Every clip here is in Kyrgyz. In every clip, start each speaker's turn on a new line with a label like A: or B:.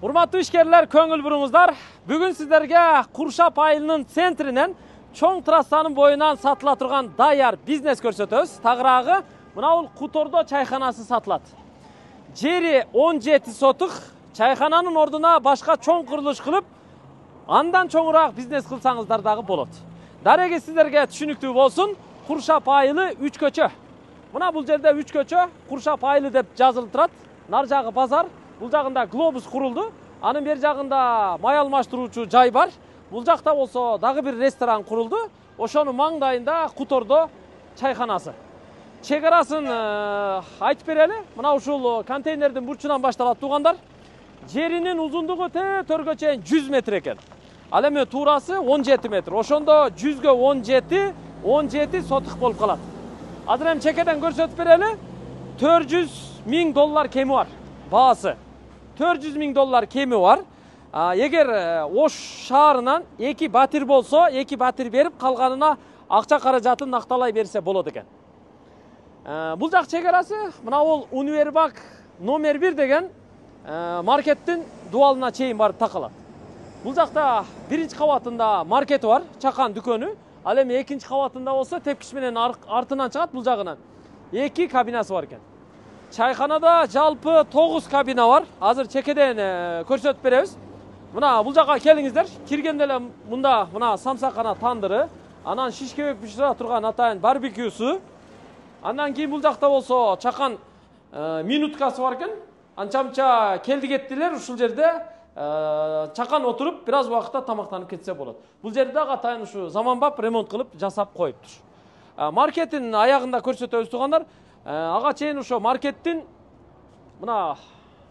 A: Урматтуу ишкерлер, көңүл буруңуздар. Бүгүн сиздерге Куршап айылынын центринен чоң трассанын боюнан сатыла турган даяр бизнес көрсөтөбүз. Тагыраагы мына бул Кутордо чайханасы сатылат. Жери 17 сотук, чайхананын ордуна башка чоң курулуш кылып, андан чоңураак бизнес кылсаңыздар дагы болот. Дареги сиздерге түшүнүктүү болсун, Куршап айылы 3 көчө. Мына бул жерде 3 көчө, Куршап айылы деп жазылып турат. Нар жагы базар, бул жагында глобус курулду. Анын бер жагында май алмаштыруучу жай бар. Бул жакта болсо дагы бир ресторан курулду. Ошонун маңдайында Кутордо чайханасы. Чек арасын айтып берели. Мына ушул контейнердин бурчунан башталат туугандар. Жеринин узундугу төргө чейин 100 метр экен. Ал эми туурасы 17 метр. Ошондо 100гө 17 сотук болуп калат. Азыр эми чекеден көрсөтүп берели. $400,000 кеми бар. Баасы $400,000 кеми бар. Эгер Ош шаарынан 2 батир болсо, 2 батир берип, калганына акча каражатын накталай берсе болот экен. Бул жак чек арасы, мына бул Универбак номер 1 деген маркеттин дуалына чейин барып такалат. Бул жакта биринчи кабатында маркети бар, чакан дүкөнү. Ал эми экинчи кабатында болсо тепкич менен артынан чыгат, бул жагынан 2 кабинасы бар экен. Чайханада жалпы 9 кабина бар. Азыр чекеден көрсөтүп беребиз. Мына бул жака келиңиздер. Киргенде эле мында мына самсакана тандыры, анан шишкебек бышыра турган атайын барбекюсу. Андан кийин бул жакта болсо чакан минуткасы бар экен. Анча-мынча келди кеттилер, ушул жерде чакан отуруп, бир аз убакытта тамактанып кетсе болот. Бул жерде дагы атайын ушу заманбап ремонт кылып жасап коюптур. Маркеттин аягында көрсөтөбүз туугандар. Ага чейин ошо маркеттин мына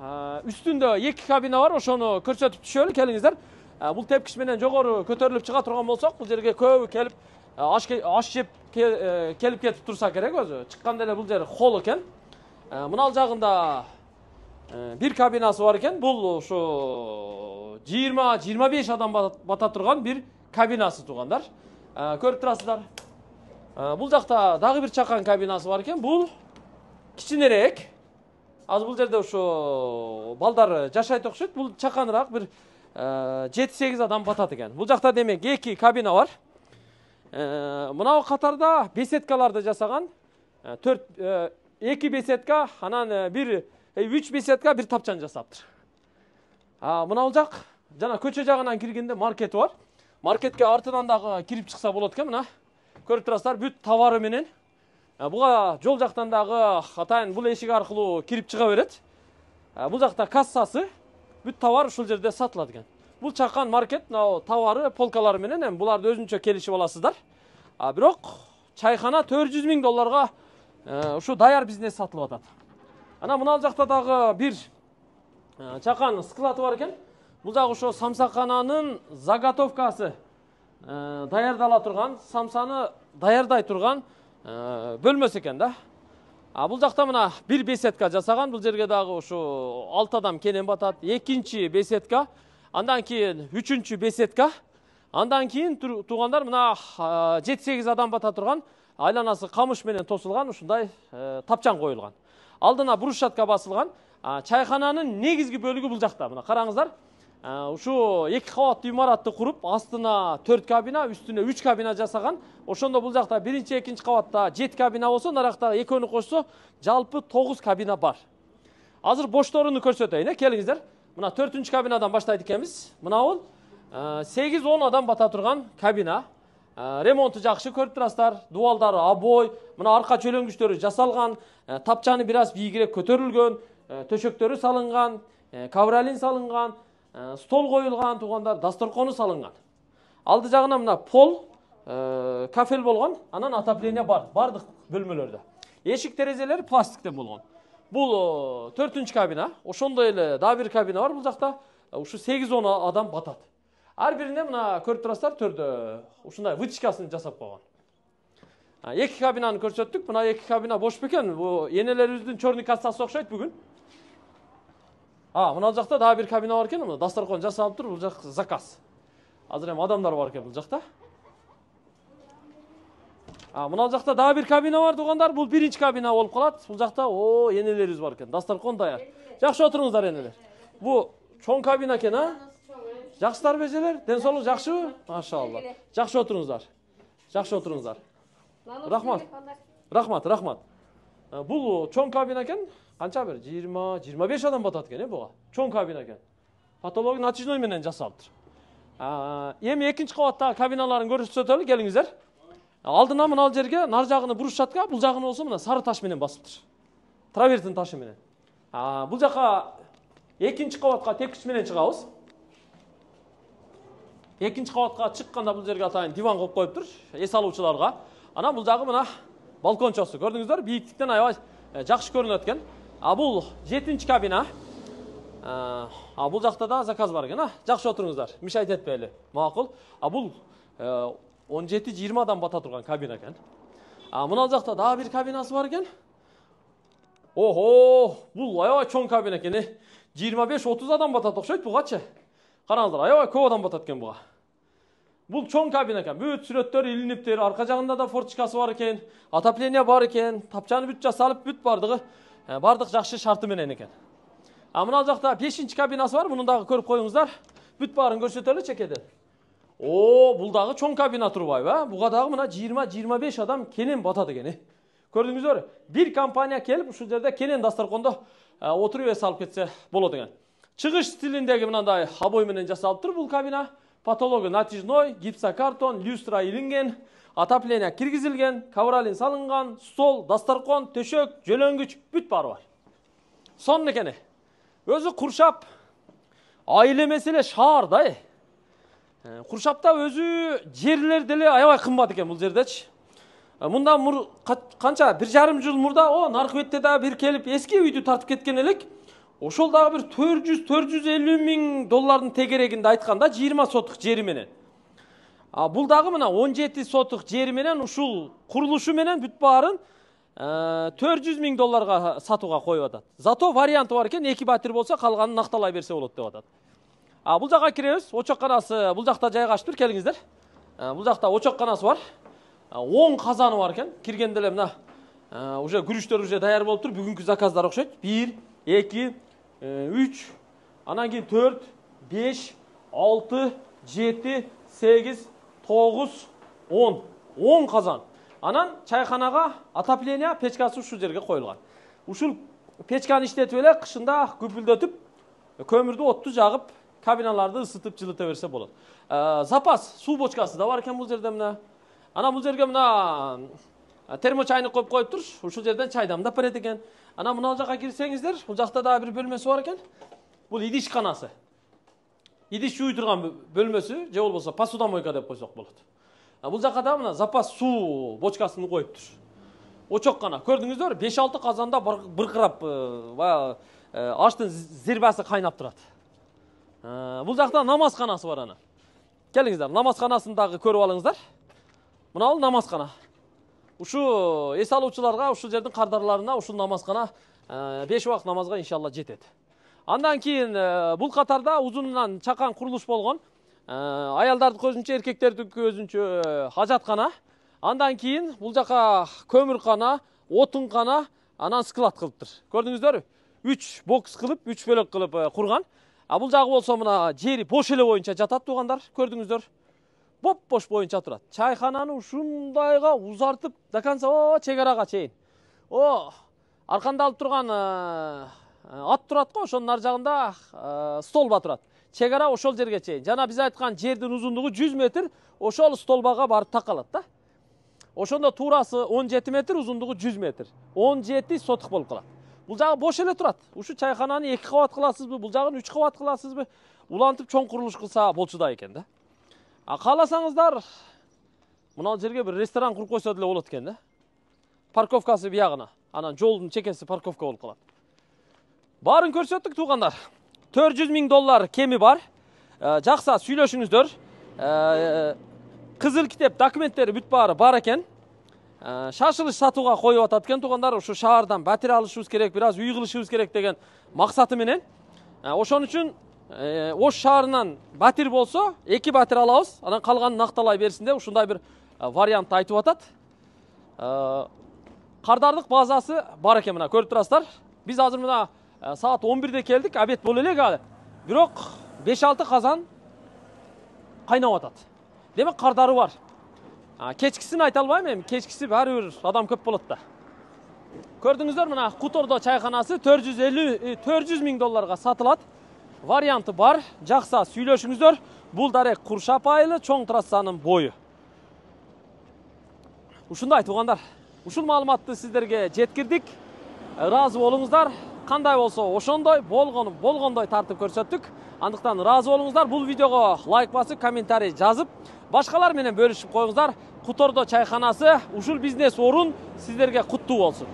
A: үстүндө 2 кабина бар, ошону көрсөтүп түшөлү, келиңиздер. Бул тепкич менен жогору көтөрүлүп чыга турган болсок, бул жерге көбү келип аш жеп келип кетип турса керек өзү. Чыкканда эле бул жер холл экен. Мына ал жагында 1 кабинасы бар экен. Бул ошо 20-25 адам бата турган бир кабинасы туугандар. Көрүп турасыздар. Бул жакта дагы бир чакан кабинасы бар экен. Бул кичинерээк. Азыр бул жерде ошо балдар жашайт окшойт. Бул чаканыраак бир 7-8 адам батат экен. Бул жакта демек 2 кабина бар. Мына катарда беседкаларды жасаган. 2 беседка, анан 3 беседка, бир тапчан жасаптыр. Мына бул жак жана көчө жагынан киргенде маркети бар. Маркетке артынан дагы кирип чыкса болот экен, мына. Көрүп турасыздар, бүт товары менен. Буга жол жактан дагы атайын бул эшик аркылуу кирип чыга берет. Бул жакта кассасы, бүт товар ушул жерде сатылат экен. Бул чакан маркет, товары, полкалары менен эми буларды өзүнчө келишип аласыздар. Бирок чайхана $400,000 ушу даяр бизнес сатылып атат. Ана мына жакта дагы бир чакан склады бар экен. Бул жагы ошо самсакананын заготовкасы даярдала турган, самсаны даярдай турган бөлмөсү экен да. Бул жакта мына бир беседка жасаган, бул жерге дагы ушу 6 адам кенен батат. Экинчи беседка, андан кийин үчүнчү беседка, андан кийин туугандар мына 7-8 адам бата турган, айланасы камыш менен тосулган ушундай тапчан коюлган. Алдына брусчатка басылган. Чайхананын негизги бөлүгү бул жакта. Мына караңыздар. Ушу 2 кабаттуу имаратты куруп, астына 4 кабина, үстүнө 3 кабина жасаган. Ошондо бул жакта биринчи, экинчи кабатта 7 кабина болсо, наракта экөөнү кошсо, жалпы 9 кабина бар. Азыр бошторуну көрсөтөйүн, келиңиздер. Мына 4-үнчү кабинадан баштайт экенбиз. Мына бул 8-10 адам бата турган кабина. Ремонту жакшы, көрүп турасыздар. Дуалдары обой, мына арка чөлөңгүчтөрү жасалган, тапчаны бир аз бийигирээк көтөрүлгөн, төшөктөрү салынган, ковролин салынган, стол коюлган туугандар, дасторкону салынган. Алды жагына мына пол, кафель болгон, анан отопление бар, бардык бөлмөлөрдө. Эшик терезелери пластиктен болгон. Бул 4-үнчү кабина, ошондой эле дагы бир кабина бар бул жакта. Ушу 8-10 адам батат. Ар бирине мына көрүп турасыздар, төрдө ушундай вытяжкасын жасап койгон. 2 кабинаны көрсөттүк. Мына 2 кабина бош бекен. Бу энелерибиздин чорный кассасы окшойт бүгүн. Мына жакта дагы бир кабина бар экен. Мына дасторкон жасалып тур, бул жак заказ. Азыр эми адамдар бар экен бул жакта. Мына жакта дагы бир кабина бар туугандар. Бул биринчи кабина болуп калат. Бул жакта энелерибиз бар экен. Дасторкон даяр. Жакшы отуруңуздар энелер. Бу чоң кабина экен, а? Жакшысыздарбы эжелер? Ден соолук жакшыбы? Машалла. Жакшы отуруңуздар. Жакшы отуруңуздар. Рахмат. Рахмат. Бул чоң кабина экен. Канча бир 20-25 адам батат экен, буга. Чоң кабина экен. Патология натижной менен жасалыптыр. Эми экинчи кабаттагы кабиналарын көрсөтөлү, келиңиздер. Алдына мына жерге нар жагыны бурушчатка, бул жагыны болсо мына сары таш менен басыптыр. Травертин ташы менен. Бул жака экинчи кабатка тепкич менен чыгабыз. Экинчи кабатка чыкканда бул жерге атайын диван коюп коюптур, эс алуучуларга. Анан бул жагы мына балкончосу. Көрдүңүздөр, бийиктиктен аябай жакшы көрүнөт экен. Бул 7-чи кабина. Бул жакта да заказ бар экен, Жакшы отуруңуздар. Мишайт этпейли. Макул. Бул 17-20 адам бата турган кабина экен. Мына жакта дагы бир кабинасы бар экен. Охо, бул аябай чоң кабина экен. 25-30 адам батат окшойт бугачы. Караңыздар, аябай көп адам батат экен буга. Бул чоң кабина экен. Бүт сүрөттөр илиниптир. Арка жагында да форточкасы бар экен. Отопление бар экен. Тапчаны бүт жасалып, бүт бардык жакшы шарты менен экен. Мына жакта 5-чи кабинасы бар. Муну дагы көрүп коюңуздар. Бүт баарын көрсөтөлү чекеден. Бул дагы чоң кабина турбайбы? Буга дагы мына 20-25 адам кенен батат экен. Көрдүңүздөр, бир компания келип ушул жерде кенен дастаркондо отуруп эс алып кетсе болот экен. Чыгыш стилиндеги мындай обой менен жасалыптыр бул кабина. Патология натяжной, гипсокартон, люстра илинген, отопление киргизилген, ковролин салынган, стол, дастаркон, төшөк, жөлөнгүч бүт баары бар. Сонун экен. Өзү Куршап айыл эмес эле шаар да. Куршапта өзү жерлер деле аябай кымбат экен бул жердечи. Мында канча 1,5 жыл мурда наркы бетте дагы бир келип эски үйдү тартып кеткен элек. Ошол дагы бир 400-450 миң доллардын тегерегинде айтканда 20 сотук жери менен. Бул дагы мына 17 сотук жери менен ушул курулушу менен бүт баарын 400 миң долларга сатууга коюп атат. Зато варианты бар экен, 2 батир болсо калганын накталай берсе болот деп атат. Бул жакка киребиз. Очокканасы бул жакта жайгаштыр, келиңиздер. Бул жакта очокканасы бар. 10 казаны бар экен. Киргенде эле мына уже күрүчтөр уже даяр болуптур. Бүгүнкү заказдар окшойт. 1, 2, 3, анан кийин 4, 5, 6, 7, 8, 9, 10. 10 казан. Анан чайханага отопление печкасы ушул жерге коюлган. Ушул печканы иштетип эле кышында күпүлдөтүп, көмүрдү отту жагып, кабиналарды ысытып жылыта берсе болот. Запас суу бочкасы да бар экен бул жерде мына. Анан бул жерге мына термочайник коюп коюптур. Ушул жерден чай дамдап берет экен. Анан мына жака кирсеңиздер, бул жакта дагы бир бөлмөсү бар экен. Бул идишканасы. Идиш жууй турган бөлмөсү, же болбосо посудомойка деп койсок болот. Бул жака да мына запас суу бочкасын коюптур. Очоккана. Көрдүңүздөр, 5-6 казанда быркырап аштын зирбасы кайнап турат. Бул жакта намазканасы бар ана. Келиңиздер, намазканасын дагы көрүп алыңыздар. Мына бул намазкана. Ушу эс алуучуларга ушул жердин кардарларына ушул намазкана 5 убакыт намазга иншалла жетет. Андан кийин бул катарда узунунан чакан курулуш болгон. Аялдардыкы өзүнчө, эркектердики өзүнчө хажаткана. Андан кийин бул жака көмүркана, отункана, анан склад кылыптыр. Көрдүңүздөрбү? 3 бокс кылып, 3 бөлөк кылып курган. Бул жагы болсо мына жери бош эле боюнча жатат туугандар. Көрдүңүздөр? Боп-бош боюнча турат. Чайхананы ушундайга узартып, до конца чек арага чейин. Арканда алып турган ат турат го, ошонун ар жагында столба турат. Чек ара ошол жерге чейин. Жана биз айткан жердин узундугу 100 метр, ошол столбага барып такалат да. Ошондо туурасы 17 метр, узундугу 100 метр. 17 сотук болуп калат. Бул жагы бош эле турат. Ушу чайхананы 2 кабат кыласызбы, бул жагын 3 кабат кыласызбы? Улантып чоң курулуш кылса болчу да экен да. Кааласаңыздар, мына жерге бир ресторан куруп койсо деле болот экен да. Парковкасы биягына, анан жолдун чекеси парковка болуп калат. Баарын көрсөттүк туугандар. 400 миң доллар кеми бар. Жакса сүйлөшүңүздөр. Кызыл китеп документтери бүт баары бар экен. Шашылыш сатууга коюп атат экен туугандар. Ушу шаардан батир алышыбыз керек, бир аз үй кылышыбыз керек деген максаты менен. Ошон үчүн Ош шаарынан батир болсо, 2 батир алабыз, анан калганын накталай берсин деп ушундай бир вариант айтып атат. Кардардык базасы бар экен мына, көрүп турасыздар. Биз азыр мына саат 11-де келдик, обед боло элек алы. бирок 5-6 казан кайнап атат. Демек кардары бар. Кечкисин айта албайм, эми кечкиси баары бир адам көп болот да. Көрдүңүздөр, мына Хутордо чайканасы 400 миң долларга сатылат. Варианты бар. Жакса сүйлөшүңүздөр. Бул дарек Куршап айылы, чоң трассанын бою. Ушундай туугандар. Ушул маалыматты сиздерге жеткирдик. Ыраазы болуңуздар. Кандай болсо ошондой, болгондой тартып көрсөттүк. Андыктан ыраазы болуңуздар. Бул видеого лайк басып, комментарий жазып, башкалар менен бөлүшүп коюңуздар. Хутордо чайканасы, ушул бизнес орун сиздерге куттуу болсун.